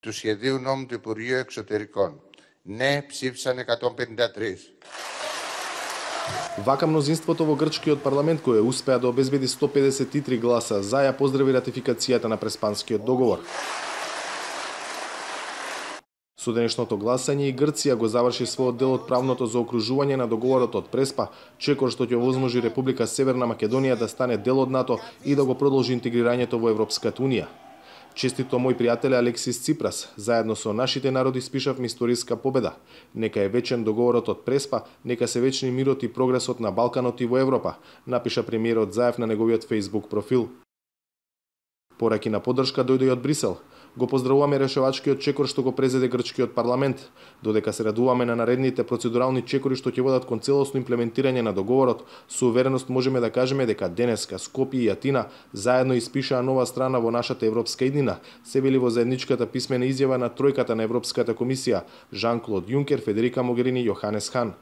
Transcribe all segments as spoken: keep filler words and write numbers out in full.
του σχεδίου νόμου του Υπουργείου Εξωτερικών. Ναι, ψήφισαν εκατόν πενήντα τρία. Вака мнозинството во грчкиот парламент кој успеа да обезбеди сто педесет и три гласа за ја поздрави ратификацијата на Преспанскиот договор. Со денешното гласање и Грција го заврши својот дел од правното заокружување на договорот од Преспа, чекор што ќе овозможи Република Северна Македонија да стане дел од НАТО и да го продолжи интегрирањето во Европската унија. Честито мој пријател Алексис Ципрас, заедно со нашите народи спишавме историска победа. Нека е вечен договорот од Преспа, нека се вечни мирот и прогресот на Балканот и во Европа, напиша премиерот Заев на неговиот Facebook профил. Пораки на поддршка дојде и од Брисел. Го поздравуваме решавачкиот чекор што го презеде грчкиот парламент, додека се радуваме на наредните процедурални чекори што ќе водат кон целосно имплементирање на договорот, со увереност можеме да кажеме дека денеска Скопје и Атина заедно испишаа нова страна во нашата европска иднина, се вели во заедничката писмена изјава на тројката на Европската комисија Жан-Клод Јункер, Федерика Могерини и Јоханес Хан.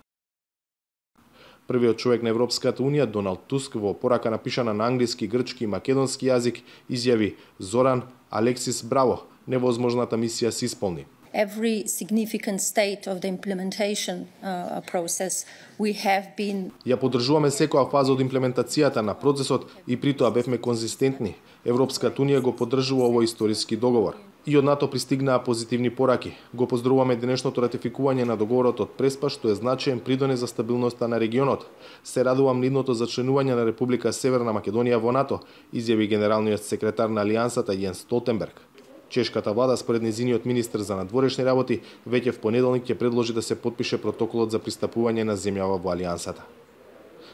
Првиот човек на Европската унија, Доналд Туск, во порака напишана на англиски, грчки и македонски јазик, изјави: Зоран, Алексис, браво, невозможната мисија се исполни. Every significant state of the implementation uh, process we have been. Ја поддржуваме секоја фаза од имплементацијата на процесот и при тоа бевме конзистентни. Европската унија го поддржува овој историски договор. И од НАТО пристигнаа позитивни пораки. Го поздравуваме денешното ратификување на договорот од Преспа, што е значаен придонес за стабилноста на регионот. Се радувам нивното зачленување на Република Северна Македонија во НАТО, изјави генералниот секретар на Алијансата Јенс Столтенберг. Чешката влада, според незиниот министер за надворешни работи, веќе в понеделник ќе предложи да се потпише протоколот за пристапување на земјава во Алијансата.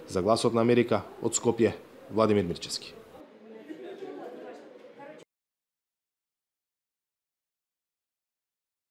За Гласот на Америка, од Скопје, Владимир Мирчевски.